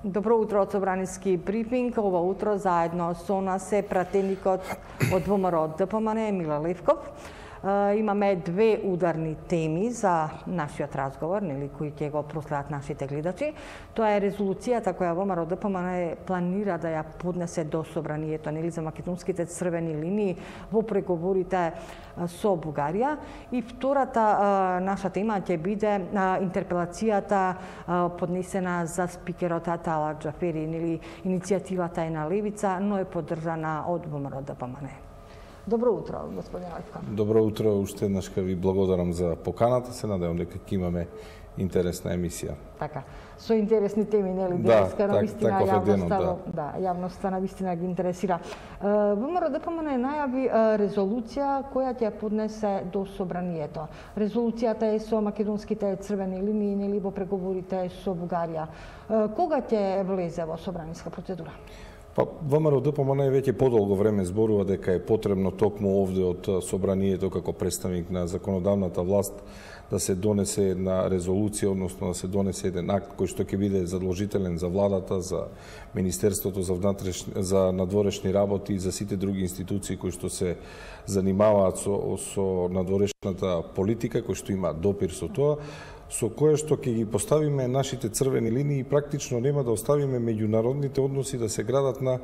Добро утро од Собраниски брифинг. Ова утро заедно со нас е пратеникот од ВМРО ДПМН Миле Левков. Имаме две ударни теми за нашиот разговор, кои ќе го проследат нашите гледачи. Тоа е резолуцијата која ВМРО ДПМН планира да ја поднесе до Собранието, за македонските црвени линии во преговорите со Бугарија. И втората наша тема ќе биде интерпелацијата поднесена за спикерот Атала Џафери, иницијативата е на левица, но е поддржана од ВМРО ДПМН. Добро утро, господин Левков. Добро утро, уште еднаш ви благодарам за поканата. Се надевам дека ќе имаме интересна емисија. Така, со интересни теми, денеска навистина јавноста навистина ги интересира. ВМРО ДПМН најави резолуција која ќе поднесе до Собранието. Резолуцијата е со македонските црвени линии, во преговорите со Бугарија. Кога ќе влезе во собраниска процедура? ВМРО ДПМН веќе подолго време зборува дека е потребно токму овде од Собранието како представник на законодавната власт да се донесе една резолуција, односно да се донесе еден акт кој што ќе биде задолжителен за владата, за Министерството за надворешни работи и за сите други институции кои што се занимаваат со надворешната политика, кои што има допир со тоа, со кое што ќе ги поставиме нашите црвени линии и практично нема да оставиме меѓународните односи да се градат на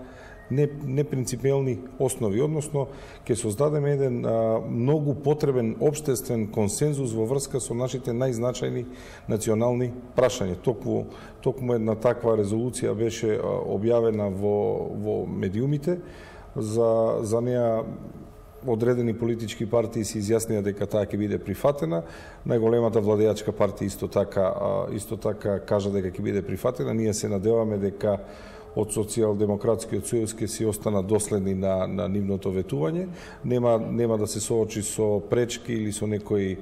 непринципиелни основи, односно ќе создадеме еден многу потребен општествен консензус во врска со нашите најзначајни национални прашања. Токму една таква резолуција беше објавена во медиумите, за неа одредени политички партии се изјаснија дека таа ќе биде прифатена. Најголемата владеачка партија исто така кажа дека ќе биде прифатена. Ние се надеваме дека од Социјалдемократскиот сојуз ќе си остана доследни на нивното ветување. Нема да се соочи со пречки или со некои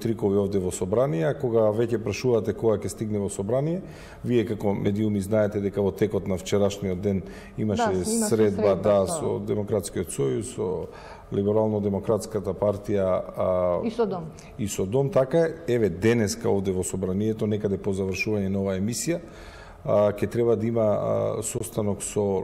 трикови овде во собрание. Кога веќе прашувате кога ќе стигне во собрание, вие како медиуми знаете дека во текот на вчерашниот ден имаше средба со Демократскиот сојуз, со Либерално-демократската партија и со Дом. Така еве денеска овде во собранието, некаде по завршување на оваа емисија, ќе треба да има состанок со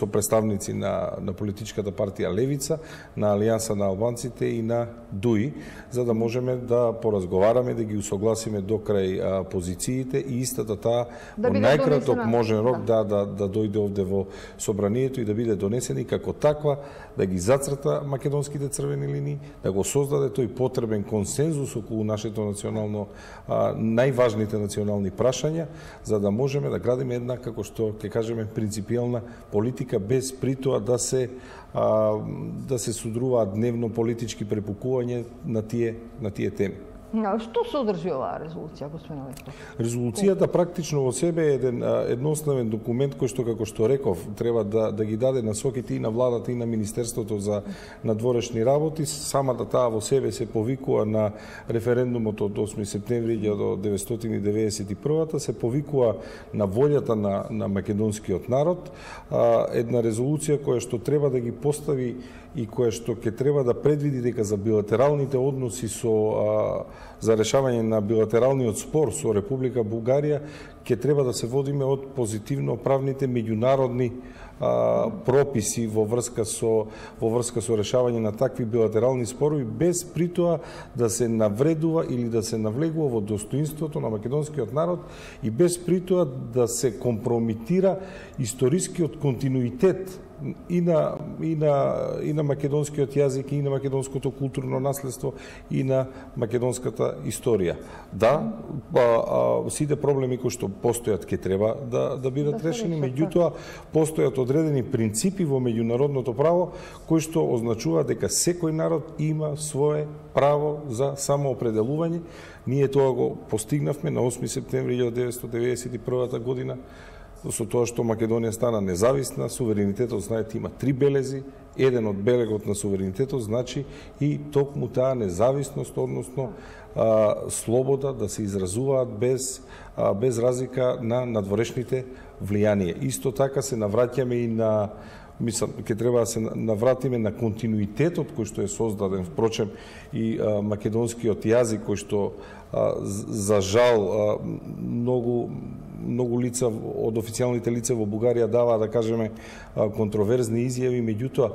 представници на политичката партија Левица, на Алијанса на албанците и на ДУИ, за да можеме да поразговараме, да ги усогласиме до крај позициите и истата таа во најкраток можен рок да дојде овде во собранието и да биде донесена и како таква да ги зацрта македонските црвени линии, да го создаде тој потребен консензус околу нашето национално најважните национални прашања, за да можеме да градиме една, како што ќе кажеме, принципиелна политика без при тоа да се судруваат дневно политички препукување на тие теми. Што содржи оваа резолуција, господин Левков? Резолуцијата практично во себе е едноставен документ кој што, како што реков, треба да ги даде насоките и на владата и на Министерството за надворешни работи. Самата таа во себе се повикува на референдумот од 8 септември 1991, се повикува на волјата на македонскиот народ. Една резолуција која што треба да ги постави и која што ќе треба да предвиди дека за билатералните односи за решавање на билатералниот спор со Република Бугарија ќе треба да се водиме од позитивно правните меѓународни прописи во врска со решавање на такви билатерални спорови, без при тоа да се навредува или да се навлегува во достоинството на македонскиот народ и без при тоа да се компромитира историскиот континуитет и на македонскиот јазик, и на македонското културно наследство, и на македонската историја. Сите проблеми кои што постојат ќе треба да бидат решени, меѓутоа постојат одредени принципи во меѓународното право кои што означува дека секој народ има свое право за самоопределување. Ние тоа го постигнавме на 8 септември 1991 година, со тоа што Македонија стана независна. Суверенитетот, знаете, има 3 белези. Еден од белегот на суверенитетот значи и токму таа независност, односно слобода да се изразуваат без разлика на надворешните влијанија. Исто така се навраќаме и на ќе треба да се навратиме на континуитетот кој што е создаден, впрочем и македонскиот јазик кој што за жал многу лица од официјалните лица во Бугарија дава, да кажеме, контроверзни изјави, меѓутоа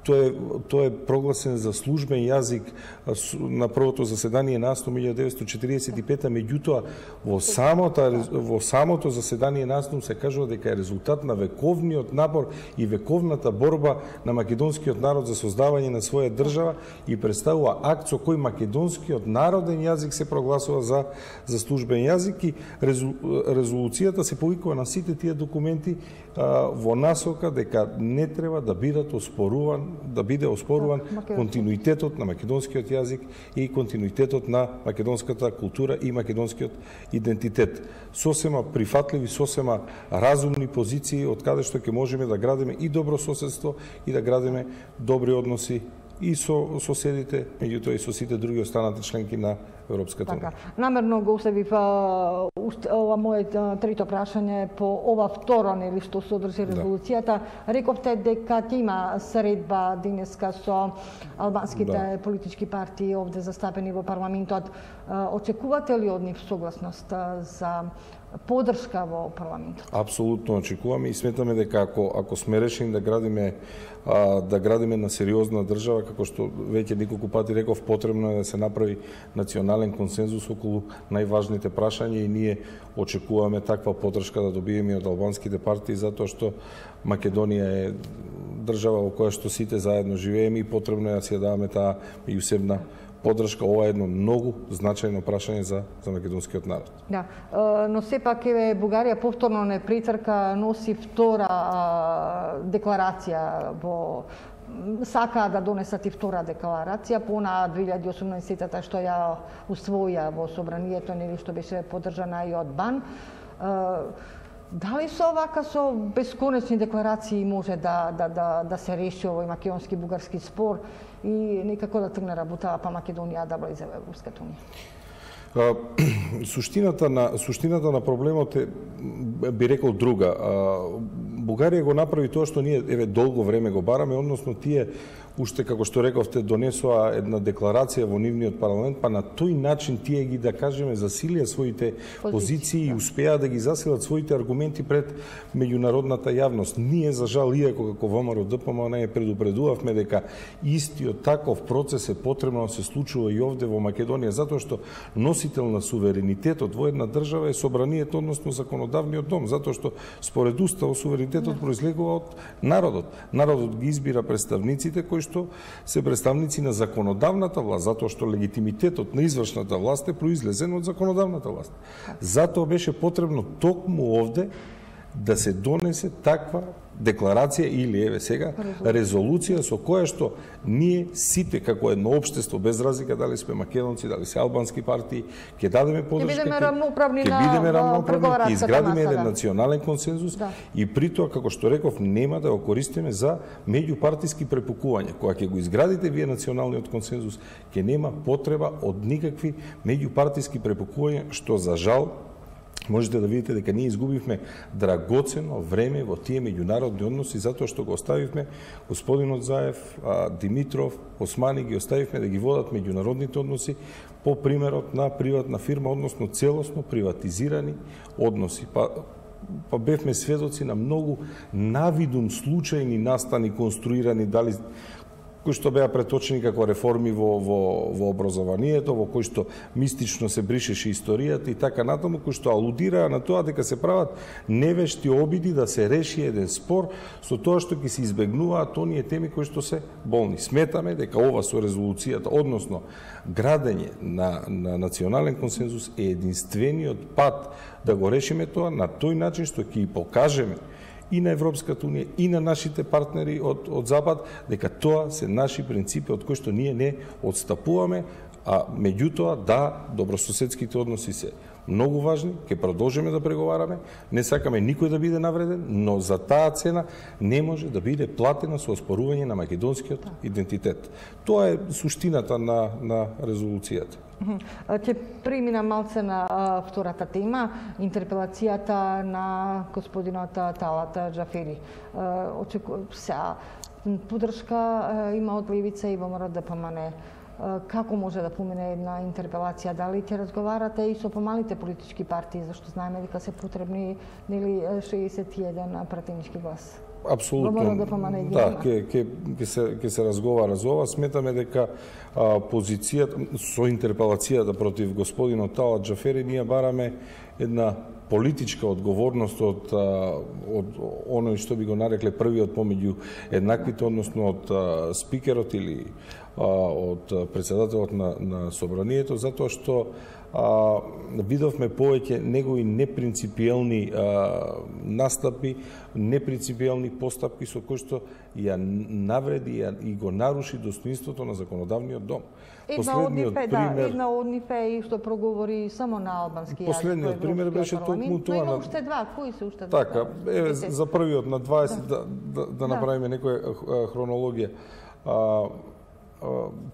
тој е прогласен за службен јазик на првото заседание на АСНУМ 1945, меѓутоа во самото заседание на АСНУМ се кажува дека е резултат на вековниот напор и вековната борба на македонскиот народ за создавање на своја држава и представува акт со кој македонскиот народен јазик се прогласува за службен јазик, и резолуцијата се повикува на сите тие документи во насока дека не треба да биде оспоруван континуитетот на македонскиот јазик и континуитетот на македонската култура и македонскиот идентитет. Сосема прифатливи, сосема разумни позиции од каде што ќе можеме да градиме и добро соседство и да градиме добри односи и со соседите, меѓутоа и со сите други останати членки на Европската унија. Намерно го оставив ова мое трето прашање по ова второ, нели, што содржи резолуцијата. Рековте дека ќе има средба денеска со албанските политички партии овде застапени во парламентот. Очекувате ли од нив согласност за поддршка во парламентот? Апсолутно очекуваме и сметаме дека ако сме решени да градиме на сериозна држава, како што веќе неколку пати реков, потребно е да се направи национален консензус околу најважните прашања и ние очекуваме таква поддршка да добиеме од албанските партии, затоа што Македонија е држава во која што сите заедно живееме и потребно е да си даваме таа меѓусебна поддршка. Ова е едно многу значајно прашање за македонскиот народ. Да, но сепак Бугарија повторно не претрка, носи втора декларација сака да донесат и втора декларација по на 2018-та што ја усвоја во собранието, нели, што беше поддржана и од БАН. Дали со бесконечни декларации може да се реши овој македонски-бугарски спор и некако да тргне работа па Македонија да влезе во Европската унија? Суштината на проблемот е, би рекол, друга. Бугарија го направи тоа што ние долго време го бараме, односно тие уште, како што рековте, донесоа една декларација во нивниот парламент, па на тој начин тие ги, да кажеме, засилија своите позиции и успеа да ги засилат своите аргументи пред меѓународната јавност. Ние, за жал, иако како ВМРО ДПМН предупредувавме дека истиот таков процес е потребно да се случува и овде во Македонија, затоа што носител на суверенитетот во една држава е собранието, односно законодавниот дом, затоа што според Уставот суверенитетот произлегува од народот. Народот ги избира представниците кои што се представници на законодавната власт, затоа што легитимитетот на извршната власт е произлезен од законодавната власт. Затоа беше потребно токму овде да се донесе таква декларација или сега резолуција со која што ние сите како едно општество, без разлика дали сме македонци, дали се албански партии, ќе дадеме поддршка, ќе бидеме рамноправни, ќе изградиме еден национален консензус и при тоа, како што реков, нема да го користиме за меѓупартиски препукувања. Кога ќе го изградите вие националниот консензус, ќе нема потреба од никакви меѓупартиски препукувања, што за жал можете да видите дека ние изгубивме драгоцено време во тие меѓународни односи, затоа што го оставивме господинот Заев, Димитров, Османи, ги оставивме да ги водат меѓународните односи по примерот на приватна фирма, односно целосно приватизирани односи. Па бевме сведоци на многу навидум случајни настани конструирани, дали кои што беа преточени како реформи во образованието, во кои што мистично се бришеше историјата и така натаму, кои што алудираа на тоа дека се прават невешти обиди да се реши еден спор со тоа што ќе се избегнуваат оние теми кои што се болни. Сметаме дека ова со резолуцијата, односно градење на национален консензус е единствениот пат да го решиме тоа на тој начин што ќе покажеме и на Европската унија, и на нашите партнери од Запад, дека тоа се наши принципи од кои што ние не одстапуваме, а меѓутоа, да, добрососедските односи се многу важни, ќе продолжиме да преговараме, не сакаме никој да биде навреден, но за таа цена не може да биде платена со оспорување на македонскиот идентитет. Тоа е суштината на резолуцијата. Ќе премина малце на втората тема, интерпелацијата на господинот Талат Џафери. Подршка има од левица и ВМРО ДПМН. Како може да помине една интерпелација? Дали ќе разговарате и со помалите политички партии, зашто знаеме дека се потребни 61 пратенички глас? Апсолутно. Да, ќе се разговара за ова. Сметаме дека позицијата со интерпелацијата против господинот Талат Џафери ние бараме една политичка одговорност од оној што би го нарекле првиот помеѓу еднаквите, односно од спикерот или од председателот на собранието, затоа што видовме повеќе негови непринципиелни настапи, непринципиелни постапки со кои што ја навреди и го наруши достоинството на законодавниот дом. Една од нив е што проговори само на албански јазик. Последниот пример беше токму тоа. Има уште два, кои се уште два? Така, за првиот на 20 да направиме некоја хронологија.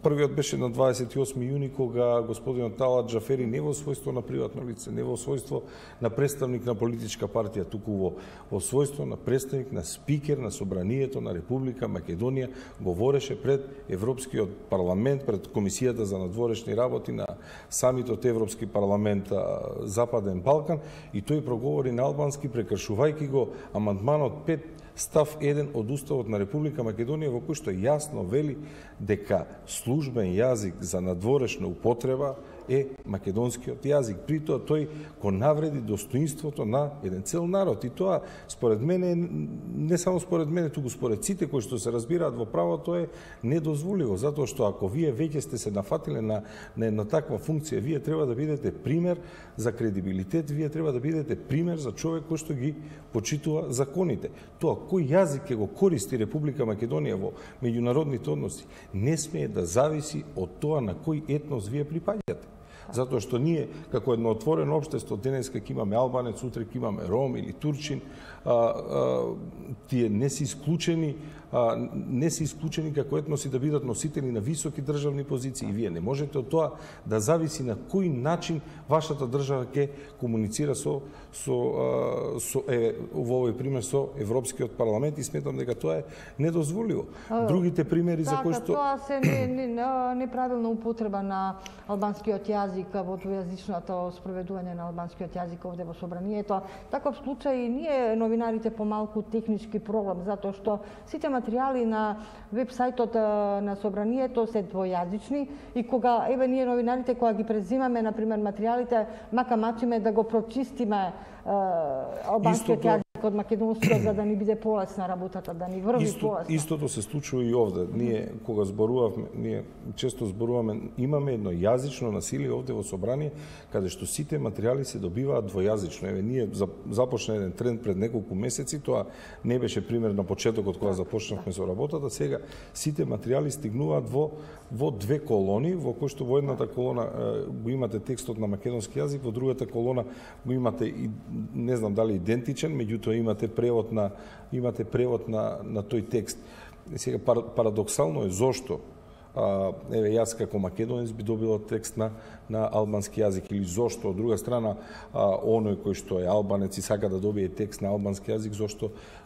Првиот беше на 28 јуни, кога господинот Талат Џафери не во својство на приватно лице, не во својство на представник на политичка партија, туку во својство на представник на спикер на собранието на Република Македонија, говореше пред Европскиот парламент, пред Комисијата за надворешни работи на самитот Европски парламент Западен Балкан, и тој проговори на албански, прекршувајќи го амандманот 5 став 1 од Уставот на Република Македонија, во кој што јасно вели дека службен јазик за надворешна употреба е македонскиот јазик. При тоа тој го навреди достоинството на еден цел народ. И тоа, според мене, не само според мене, туку според сите кои што се разбираат во правото, е недозволиво. Затоа што ако вие веќе сте се нафатиле на една таква функција, вие треба да бидете пример за кредибилитет, вие треба да бидете пример за човек кој што ги почитува законите. Тоа кој јазик ќе го користи Република Македонија во меѓународните односи не смее да зависи од тоа на кој етнос вие припаѓате. Затоа што ние, како едно отворено општество, денеска ќе имаме албанец, утре ќе имаме ром или турчин, тие не се исклучени како етноси да бидат носители на високи државни позиции. И вие не можете од тоа да зависи на кој начин вашата држава ќе комуницира во овој пример со Европскиот парламент, и сметам дека тоа е недозволиво. Другите примери за кои што тоа се неправилна употреба на албанскиот јазик во двојазичното спроведување на албанскиот јазик овде во собранието. Таков случај ние новинарите помалку технички проблем, затоа што сите материјали на веб-сајтот на собранието се двојазични, и кога ние новинарите кога ги презимаме на пример материјалите, мака мачиме да го прочистиме албанскиот јазик од македонскиот, за да ни биде полесна работата, да ни врви полесно. Истото се случува и овде. Ние кога зборувавме, ние често зборуваме, имаме едно јазично насилие овде во собрание, каде што сите материјали се добиваат двојазично. Еве, ние започна еден тренд пред неколку месеци, тоа не беше пример на почетокот кога започнавме со работата, сега сите материјали стигнуваат во две колони, во кои што во едната колона го имате текстот на македонски јазик, во другата колона го имате и не знам дали идентичен, меѓутоа имате превод на тој текст. Сега парадоксално е зошто еве јас како македонец би добила текст на албански јазик, или зошто од друга страна оној кој што е албанец и сака да добие текст на албански јазик,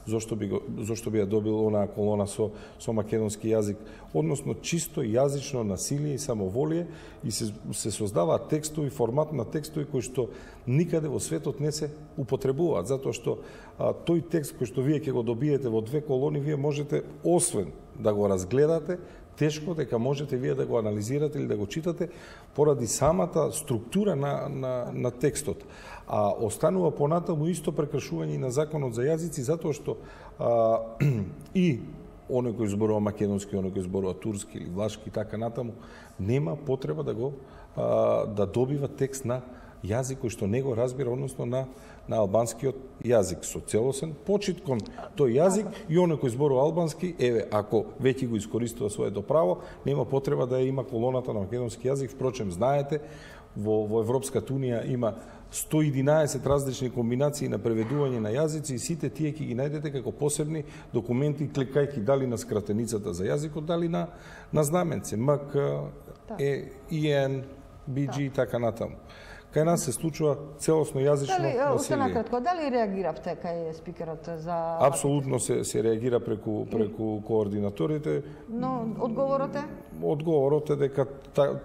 зошто би ја добил онаа колона со македонски јазик. Односно чисто јазично насилие и самоволие, и се создаваат текстови, формат на текстови кои што никаде во светот не се употребуваат, затоа што тој текст кој што вие ќе го добиете во две колони, вие можете освен да го разгледате, тешко дека можете вие да го анализирате или да го читате поради самата структура на текстот. А останува понатаму исто прекршување на законот за јазици, затоа што и оној кој зборува македонски, оној кој зборува турски или влашки и така натаму, нема потреба да добива текст на јазик кој што не го разбира, односно на албанскиот јазик, со целосен почит кон тој јазик, и оној кој зборува албански, еве, ако веќе го искористува своето право, нема потреба да има колоната на македонски јазик. Впрочем, знаете, во Европската унија има 111 различни комбинации на преведување на јазици и сите тие ќе ги најдете како посебни документи, кликајќи дали на скратеницата за јазикот, дали на знаменце, МК, ИН, BG и така натаму. Кај нас се случува целосно јазично насилие. Уште накратко, дали реагиравте кај спикерот за... Апсолутно се реагира преку координаторите. Но одговорот е? Одговорот е дека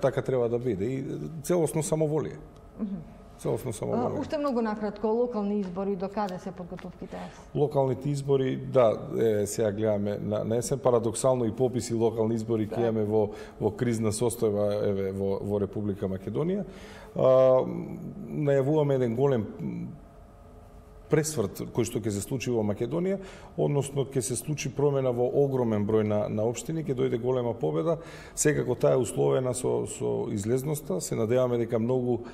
така треба да биде и целосно самоволие. Целосно самоволие. Уште многу накратко, локални избори, до каде се подготовките? Локалните избори, да, сега гледаме на есен, парадоксално и пописи локални избори ќе имаме во кризна состојба во Република Македонија. Најавуваме еден голем пресврт кој што ќе се случи во Македонија, односно ќе се случи промена во огромен број на општини, ќе дојде голема победа. Секако таа е условена со излезноста. Се надеваме дека многу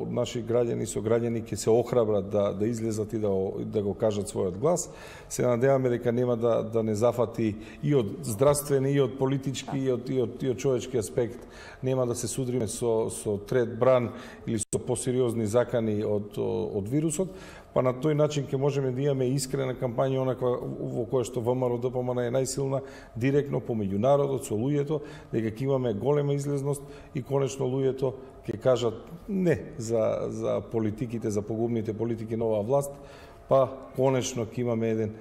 наши граѓани и сограѓани ќе се охрабрат да излезат и да го кажат својот глас. Се надеваме дека нема да не зафати и од здравствени, и од политички, и од човечки аспект. Нема да се судриме со трет бран или со посериозни закани од вирусот. Па на тој начин ќе можеме да имаме искрена кампања, онаква во која што ВМРО-ДПМН е најсилна, директно помеѓу народот, со луѓето, дека ќе имаме голема излезност и конечно луѓето ќе кажат не за политиките, за погубните политики на оваа власт, па конечно ќе имаме еден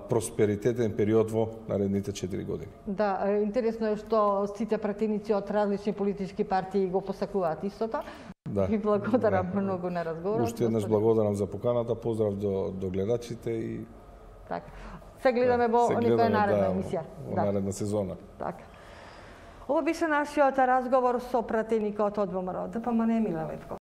просперитетен период во наредните 4 години. Да, интересно е што сите пратеници од различни политички партии го посакуваат истото. Да. И благодарам многу на разговорот. Уште еднаш благодарам за поканата, поздрав до гледачите и така. Се гледаме во некоја наредна емисија. Во наредна сезона. Така. Ова беше нашиот разговор со пратеникот од ВМРО-ДПМН Миле Левков.